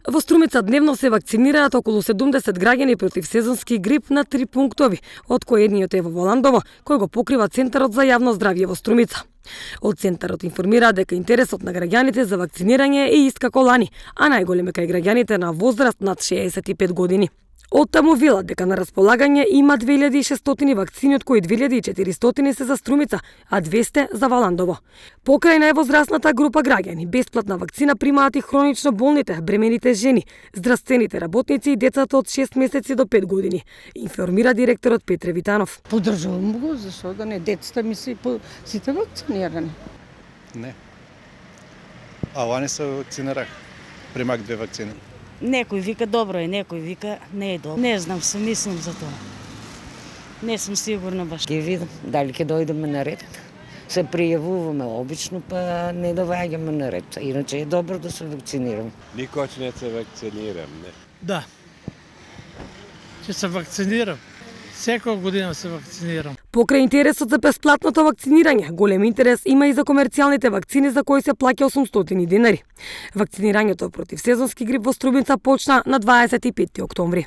Во Струмица дневно се вакцинираат околу 70 граѓани против сезонски грип на 3 пунктови, од кои едниот е во Воландово, кој го покрива Центарот за јавно здравје во Струмица. Од Центарот информираат дека интересот на граѓаните за вакцинирање е ист како лани, а најголем е кај граѓаните на возраст над 65 години. Оттаму велат дека на располагање има 2600 вакцини, од кои 2400 се за Струмица, а 200 за Воландово. Покрај највозрастната група граѓани, бесплатна вакцина примаат и хронично болните, бремените жени, здравствените работници и децата од 6 месеци до 5 години, информира директорот Петре Витанов. Поддржувам го, зашто да не, децата ми се сите вакцинирани. Не. А лани се вакцинирах. Примак 2 вакцини. Некој вика добро е, некој вика не е добро. Не знам, се мислам за тоа. Не сум сигурна баш. Ќе видам дали ќе дојдеме на ред. Се пријавуваме обично, па не доаѓаме на ред. Иначе е добро да се вакцинирам. Никош не се вакцинирам, не. Да. Ќе се вакцинирам. Секоја година се вакцинирам. Покрај интересот за бесплатното вакцинирање, голем интерес има и за комерцијалните вакцини за кои се плаќа 800 денари. Вакцинирањето против сезонски грип во Струмица почна на 25 октомври.